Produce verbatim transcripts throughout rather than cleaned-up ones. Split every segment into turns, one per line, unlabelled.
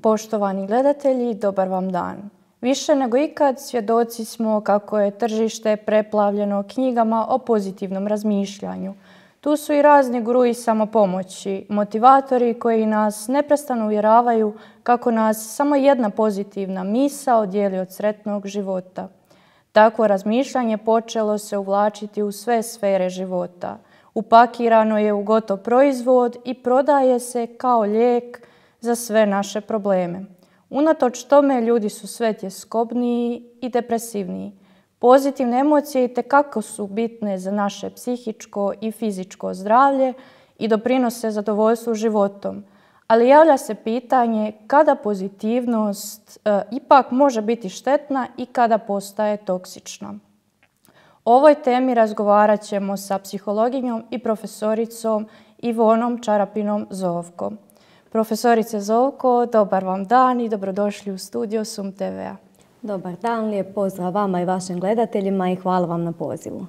Poštovani gledatelji, dobar vam dan. Više nego ikad svjedoci smo kako je tržište preplavljeno knjigama o pozitivnom razmišljanju. Tu su i razni gurui samopomoći, motivatori koji nas neprestano uvjeravaju kako nas samo jedna pozitivna misao dijeli od sretnog života. Takvo razmišljanje počelo se uvlačiti u sve sfere života. Upakirano je u gotov proizvod i prodaje se kao lijek za sve naše probleme. Unatoč tome ljudi su sve tjeskobniji i depresivniji. Pozitivne emocije itekako su bitne za naše psihičko i fizičko zdravlje i doprinose zadovoljstvu životom. Ali javlja se pitanje kada pozitivnost e, ipak može biti štetna i kada postaje toksična. O ovoj temi razgovarat ćemo sa psihologinjom i profesoricom Ivonom Čarapinom Zovko. Profesorice Zovko, dobar vam dan i dobrodošli u studio Sum te ve-a.
Dobar dan, lijep pozdrav vama i vašim gledateljima i hvala vam na pozivu.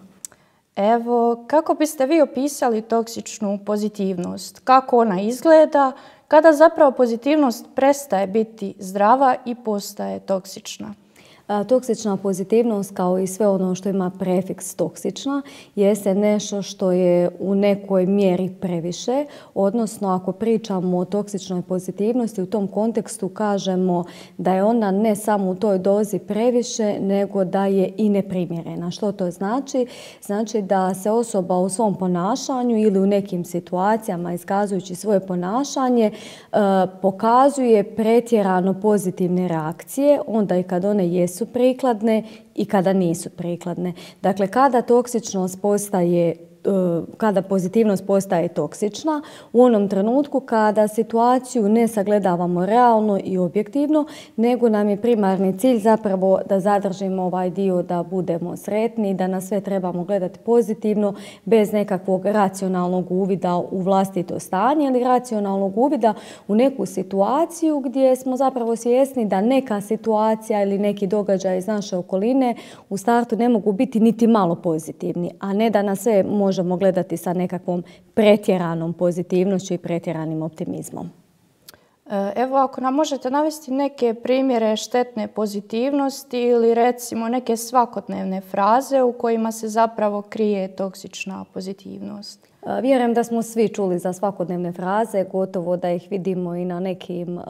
Evo, kako biste vi opisali toksičnu pozitivnost? Kako ona izgleda? Kada zapravo pozitivnost prestaje biti zdrava i postaje toksična?
Toksična pozitivnost, kao i sve ono što ima prefiks toksična, jeste nešto što je u nekoj mjeri previše, odnosno ako pričamo o toksičnoj pozitivnosti, u tom kontekstu kažemo da je ona ne samo u toj dozi previše, nego da je i neprimjerena. Što to znači? Znači da se osoba u svom ponašanju ili u nekim situacijama iskazujući svoje ponašanje pokazuje pretjerano pozitivne reakcije, onda i kad one jesu su prikladne i kada nisu prikladne. Dakle, kada toksičnost postaje kada pozitivnost postaje toksična, u onom trenutku kada situaciju ne sagledavamo realno i objektivno, nego nam je primarni cilj zapravo da zadržimo ovaj dio da budemo sretni, da na sve trebamo gledati pozitivno, bez nekakvog racionalnog uvida u vlastito stanje ili racionalnog uvida u neku situaciju gdje smo zapravo svjesni da neka situacija ili neki događaj iz naše okoline u startu ne mogu biti niti malo pozitivni, a ne da na sve može možemo gledati sa nekakvom pretjeranom pozitivnošću i pretjeranim optimizmom.
Evo, ako nam možete navesti neke primjere štetne pozitivnosti ili recimo neke svakodnevne fraze u kojima se zapravo krije toksična pozitivnost.
Vjerujem da smo svi čuli za svakodnevne fraze, gotovo da ih vidimo i na nekim uh,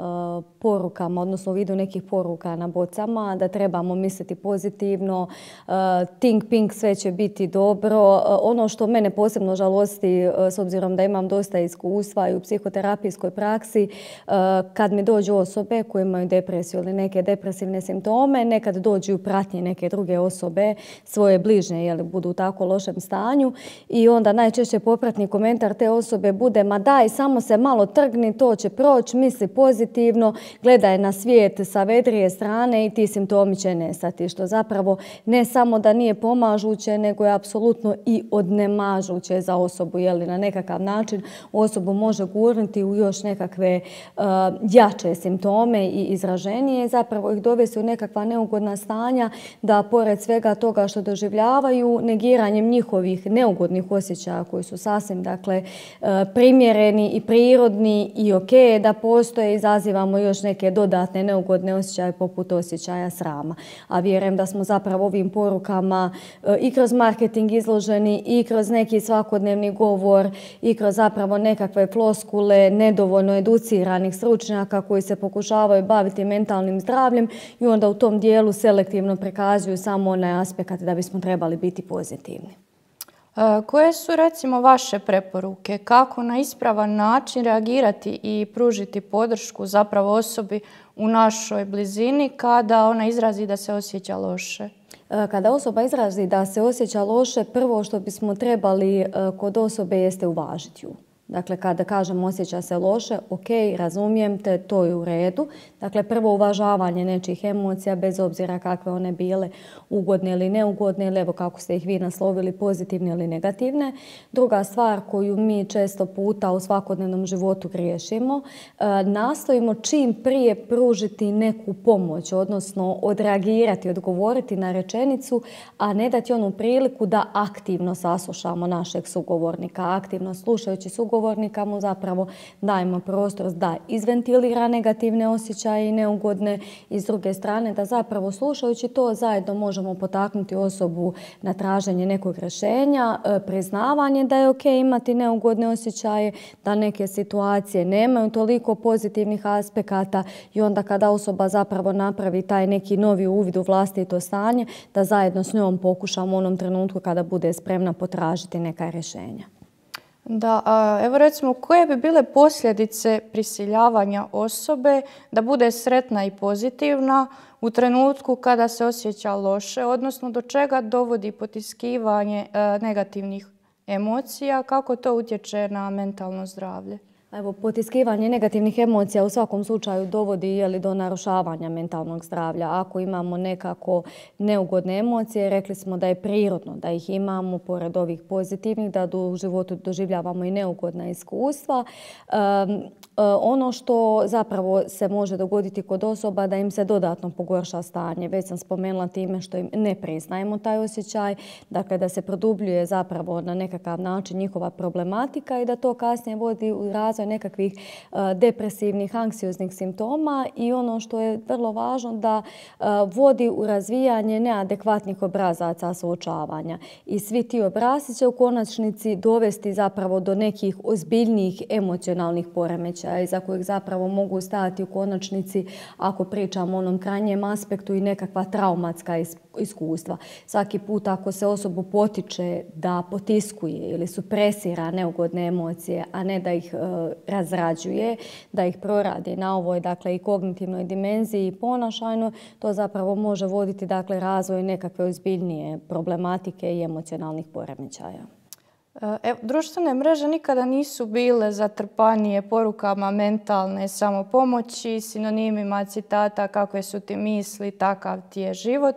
porukama, odnosno u vidu nekih poruka na bocama, da trebamo misliti pozitivno, uh, think pink, sve će biti dobro. Uh, ono što mene posebno žalosti, uh, s obzirom da imam dosta iskustva i u psihoterapijskoj praksi, uh, kad mi dođu osobe koje imaju depresiju ili neke depresivne simptome, nekad dođu u pratnji neke druge osobe, svoje bližnje, jer budu u tako lošem stanju i onda najčešće popratni komentar te osobe bude ma daj, samo se malo trgni, to će proći, misli pozitivno, gledaj na svijet sa vedrije strane i ti simptomi će nestati. Što zapravo ne samo da nije pomažuće, nego je apsolutno i odnemažuće za osobu. Jeli na nekakav način osobu može gurnuti u još nekakve uh, jače simptome i izraženije, zapravo ih dovesti u nekakva neugodna stanja da pored svega toga što doživljavaju, negiranjem njihovih neugodnih osjećaja koji su sasvim dakle, primjereni i prirodni i ok da postoje, izazivamo još neke dodatne neugodne osjećaje poput osjećaja srama. A vjerujem da smo zapravo ovim porukama i kroz marketing izloženi i kroz neki svakodnevni govor i kroz zapravo nekakve floskule nedovoljno educiranih stručnjaka koji se pokušavaju baviti mentalnim zdravljem i onda u tom dijelu selektivno prikazuju samo onaj aspekt da bismo trebali biti pozitivni.
Koje su recimo vaše preporuke kako na ispravan način reagirati i pružiti podršku zapravo osobi u našoj blizini kada ona izrazi da se osjeća loše?
Kada osoba izrazi da se osjeća loše, prvo što bismo trebali kod osobe jeste uvažiti ju. Dakle, kada kažem osjeća se loše, ok, razumijem te, to je u redu. Dakle, prvo uvažavanje nečih emocija, bez obzira kakve one bile, ugodne ili neugodne, ili evo kako ste ih vi naslovili, pozitivne ili negativne. Druga stvar koju mi često puta u svakodnevnom životu griješimo, nastojimo čim prije pružiti neku pomoć, odnosno odreagirati, odgovoriti na rečenicu, a ne dati onu priliku da aktivno saslušamo našeg sugovornika, aktivno slušajući sugovornika, sugovornika mu zapravo dajemo prostor da izventilira negativne osjećaje i neugodne i s druge strane da zapravo slušajući to zajedno možemo potaknuti osobu na traženje nekog rješenja, priznavanje da je ok imati neugodne osjećaje, da neke situacije nemaju toliko pozitivnih aspekata i onda kada osoba zapravo napravi taj neki novi uvid u vlastito stanje, da zajedno s njom pokušamo u onom trenutku kada bude spremna potražiti neka rješenja.
Da, a evo recimo koje bi bile posljedice prisiljavanja osobe da bude sretna i pozitivna u trenutku kada se osjeća loše, odnosno do čega dovodi potiskivanje e, negativnih emocija, kako to utječe na mentalno zdravlje?
Evo, potiskivanje negativnih emocija u svakom slučaju dovodi jeli, do narušavanja mentalnog zdravlja. Ako imamo nekako neugodne emocije, rekli smo da je prirodno da ih imamo, pored ovih pozitivnih, da u životu doživljavamo i neugodna iskustva. Um, Ono što zapravo se može dogoditi kod osoba da im se dodatno pogorša stanje. Već sam spomenula time što im ne priznajemo taj osjećaj, dakle da se produbljuje zapravo na nekakav način njihova problematika i da to kasnije vodi u razvoj nekakvih uh, depresivnih, anksioznih simptoma i ono što je vrlo važno da uh, vodi u razvijanje neadekvatnih obrazaca suočavanja. I svi ti obrasci će u konačnici dovesti zapravo do nekih ozbiljnijih emocionalnih poremećaja iza kojih zapravo mogu stajati u konačnici, ako pričamo o onom krajnjem aspektu, i nekakva traumatska iskustva. Svaki put ako se osobu potiče da potiskuje ili supresira neugodne emocije, a ne da ih e, razrađuje, da ih proradi na ovoj dakle, i kognitivnoj dimenziji i ponašajnoj, to zapravo može voditi dakle, razvoj nekakve ozbiljnije problematike i emocionalnih poremećaja.
E, društvene mreže nikada nisu bile zatrpanije porukama mentalne samopomoći, sinonimima citata kakve su ti misli, takav ti je život.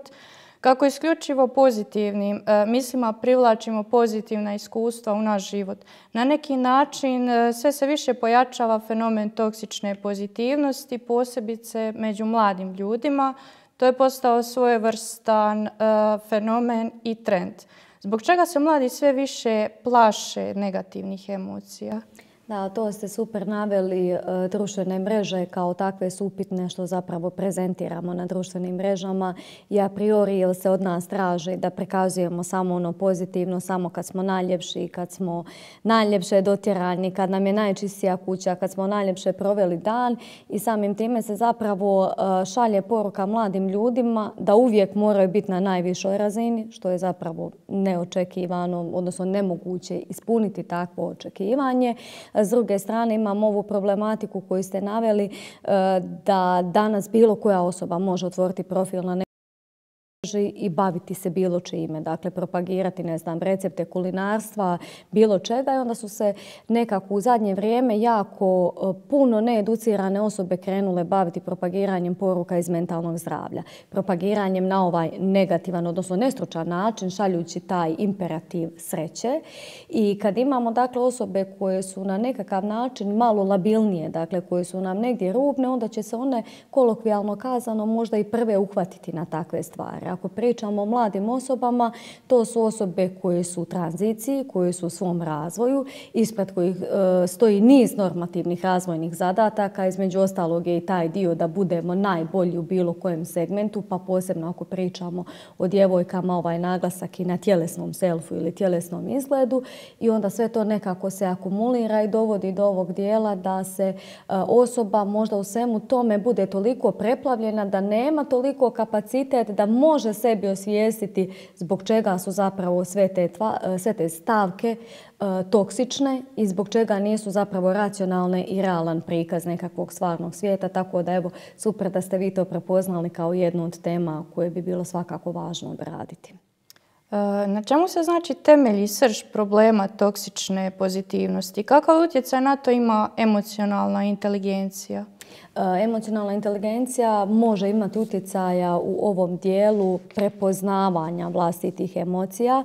Kako isključivo pozitivnim e, mislima privlačimo pozitivna iskustva u naš život. Na neki način e, sve se više pojačava fenomen toksične pozitivnosti, posebice među mladim ljudima. To je postao svojevrstan e, fenomen i trend. Zbog čega se mladi sve više plaše negativnih emocija?
Da, to ste super naveli. Društvene mreže kao takve su upitne što zapravo prezentiramo na društvenim mrežama i a priori jer se od nas traži da prikazujemo samo ono pozitivno, samo kad smo najljepši, kad smo najljepše dotjerani, kad nam je najčistija kuća, kad smo najljepše proveli dan i samim time se zapravo šalje poruka mladim ljudima da uvijek moraju biti na najvišoj razini, što je zapravo neočekivano, odnosno nemoguće ispuniti takvo očekivanje. S druge strane imamo ovu problematiku koju ste naveli da danas bilo koja osoba može otvoriti profil na i baviti se bilo čime, dakle propagirati, ne znam, recepte kulinarstva, bilo čega i onda su se nekako u zadnje vrijeme jako puno needucirane osobe krenule baviti propagiranjem poruka iz mentalnog zdravlja. Propagiranjem na ovaj negativan, odnosno nestručan način, šaljući taj imperativ sreće. I kad imamo dakle osobe koje su na nekakav način malo labilnije, dakle koje su nam negdje rubne, onda će se one kolokvijalno kazano možda i prve uhvatiti na takve stvari. Ako pričamo o mladim osobama, to su osobe koje su u tranziciji, koje su u svom razvoju, ispred kojih e, stoji niz normativnih razvojnih zadataka, između ostalog je i taj dio da budemo najbolji u bilo kojem segmentu, pa posebno ako pričamo o djevojkama, ovaj naglasak i na tjelesnom selfu ili tjelesnom izgledu i onda sve to nekako se akumulira i dovodi do ovog dijela da se e, osoba možda u svemu tome bude toliko preplavljena da nema toliko kapacitet da može sebi osvijestiti zbog čega su zapravo sve te, tva, sve te stavke e, toksične i zbog čega nisu zapravo racionalne i realan prikaz nekakvog stvarnog svijeta. Tako da evo, super da ste vi to prepoznali kao jednu od tema koje bi bilo svakako važno obraditi.
Na čemu se znači temelji srž problema toksične pozitivnosti? Kakav utjecaj na to ima emocionalna inteligencija?
Emocionalna inteligencija može imati utjecaja u ovom dijelu prepoznavanja vlastitih emocija.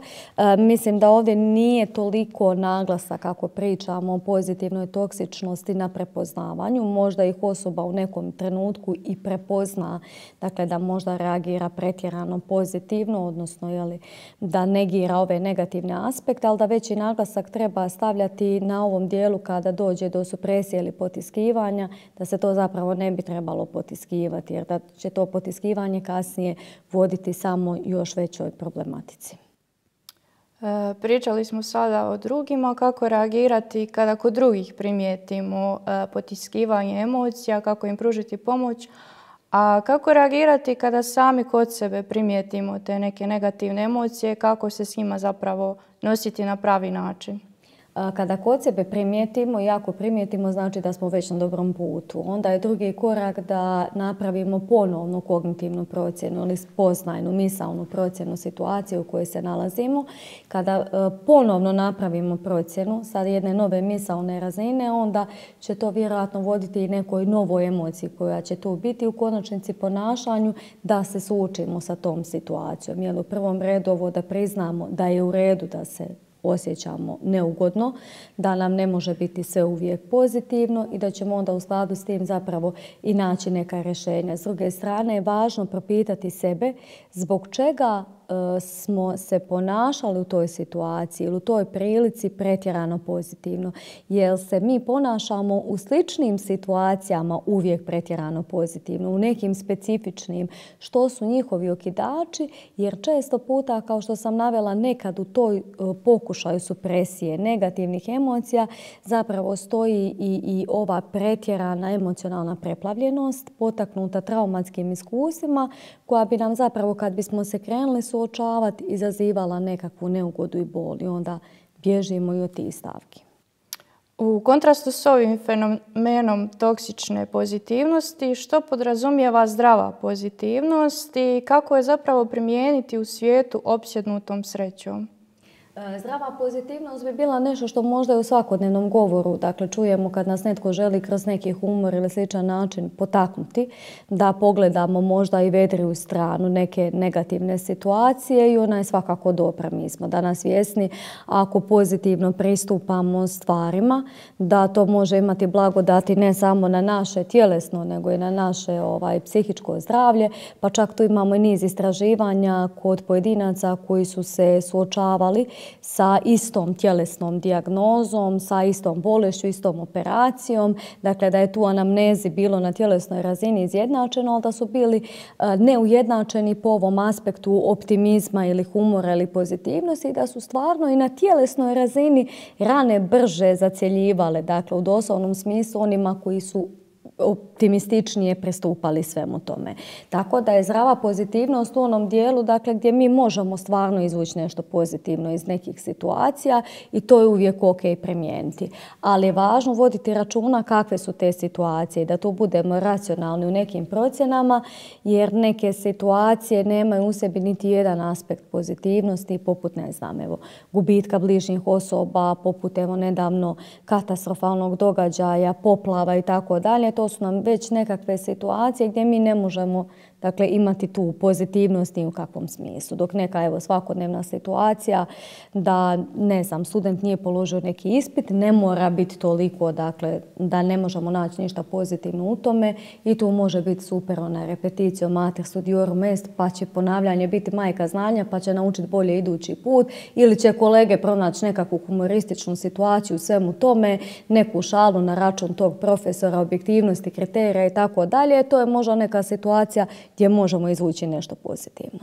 Mislim da ovdje nije toliko naglasak kako pričamo o pozitivnoj toksičnosti na prepoznavanju. Možda ih osoba u nekom trenutku i prepozna, dakle da možda reagira pretjerano pozitivno, odnosno jeli, da negira ove negativne aspekte, ali da veći naglasak treba stavljati na ovom dijelu kada dođe do supresije ili potiskivanja, da se to zapravo ne bi trebalo potiskivati, jer da će to potiskivanje kasnije voditi samo još većoj problematici.
E, pričali smo sada o drugima, kako reagirati kada kod drugih primijetimo e, potiskivanje emocija, kako im pružiti pomoć, a kako reagirati kada sami kod sebe primijetimo te neke negativne emocije, kako se s njima zapravo nositi na pravi način.
Kada kod sebe primijetimo i ako primijetimo, znači da smo već na dobrom putu. Onda je drugi korak da napravimo ponovnu kognitivnu procjenu ili spoznajnu, misaonu procjenu situacije u kojoj se nalazimo. Kada ponovno napravimo procjenu sa jedne nove misaone razine, onda će to vjerojatno voditi i nekoj novoj emociji koja će tu biti, u konačnici ponašanju da se suočimo sa tom situacijom. Jer u prvom redu ovo da priznamo da je u redu da se osjećamo neugodno, da nam ne može biti sve uvijek pozitivno i da ćemo onda u skladu s tim zapravo i naći neka rješenja. S druge strane je važno propitati sebe zbog čega smo se ponašali u toj situaciji ili u toj prilici pretjerano pozitivno. Jer se mi ponašamo u sličnim situacijama uvijek pretjerano pozitivno, u nekim specifičnim, što su njihovi okidači, jer često puta, kao što sam navela, nekad u toj pokušaju supresije negativnih emocija zapravo stoji i, i ova pretjerana emocionalna preplavljenost potaknuta traumatskim iskustvima koja bi nam zapravo, kad bismo se krenuli suočavati, izazivala nekakvu neugodu i bol i onda bježimo i od tih stavki.
U kontrastu s ovim fenomenom toksične pozitivnosti, što podrazumijeva zdrava pozitivnost i kako je zapravo primijeniti u svijetu opsjednutom srećom?
Zdrava pozitivnost bi bila nešto što možda je u svakodnevnom govoru, dakle čujemo kad nas netko želi kroz neki humor ili sličan način potaknuti, da pogledamo možda i vedriju stranu neke negativne situacije i ona je svakako dobra. Mi smo danas svjesni ako pozitivno pristupamo stvarima, da to može imati blagodati ne samo na naše tjelesno, nego i na naše ovaj, psihičko zdravlje, pa čak tu imamo i niz istraživanja kod pojedinaca koji su se suočavali sa istom tjelesnom dijagnozom, sa istom bolešću, istom operacijom. Dakle, da je tu anamnezi bilo na tjelesnoj razini izjednačeno, ali da su bili neujednačeni po ovom aspektu optimizma ili humora ili pozitivnosti i da su stvarno i na tjelesnoj razini rane brže zacjeljivale. Dakle, u doslovnom smislu onima koji su optimističnije pristupali svemu tome. Tako da je zdrava pozitivnost u onom dijelu, dakle, gdje mi možemo stvarno izvući nešto pozitivno iz nekih situacija i to je uvijek ok primijeniti. Ali je važno voditi računa kakve su te situacije i da tu budemo racionalni u nekim procjenama, jer neke situacije nemaju u sebi niti jedan aspekt pozitivnosti, poput, ne znam, evo, gubitka bližnjih osoba, poput evo nedavno katastrofalnog događaja, poplava i tako dalje. To su nam već nekakve situacije gdje mi ne možemo, dakle, imati tu pozitivnost ni u kakvom smislu. Dok neka evo, svakodnevna situacija da, ne znam, student nije položio neki ispit, ne mora biti toliko, dakle, da ne možemo naći ništa pozitivno u tome i tu može biti super ona repeticija mater studiorum est, pa će ponavljanje biti majka znanja, pa će naučiti bolje idući put, ili će kolege pronaći nekakvu humorističnu situaciju u svemu tome, neku šalu na račun tog profesora, objektivnosti, kriterija i tako dalje. To je možda neka situacija gdje možemo izvući nešto pozitivno.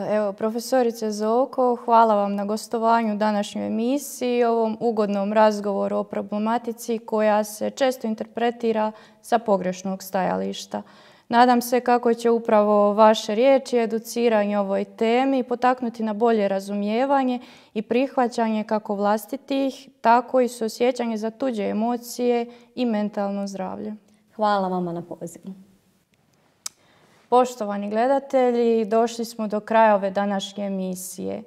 Evo, profesorice Zovko, hvala vam na gostovanju u današnjoj emisiji i ovom ugodnom razgovoru o problematici koja se često interpretira sa pogrešnog stajališta. Nadam se kako će upravo vaše riječi i educiranje o ovoj temi potaknuti na bolje razumijevanje i prihvaćanje kako vlastitih, tako i suosjećanje za tuđe emocije i mentalno zdravlje.
Hvala vama na pozivu.
Poštovani gledatelji, došli smo do kraja ove današnje emisije.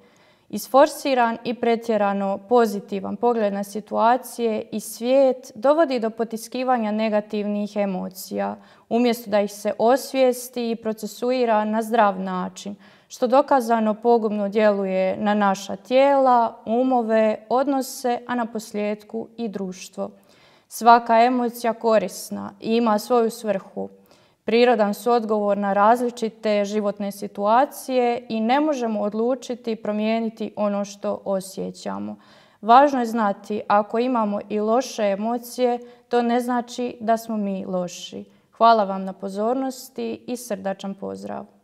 Isforsiran i pretjerano pozitivan pogled na situacije i svijet dovodi do potiskivanja negativnih emocija, umjesto da ih se osvijesti i procesuira na zdrav način, što dokazano pogubno djeluje na naša tijela, umove, odnose, a na posljedku i društvo. Svaka emocija korisna i ima svoju svrhu. Prirodan su odgovor na različite životne situacije i ne možemo odlučiti i promijeniti ono što osjećamo. Važno je znati, ako imamo i loše emocije, to ne znači da smo mi loši. Hvala vam na pozornosti i srdačan pozdrav!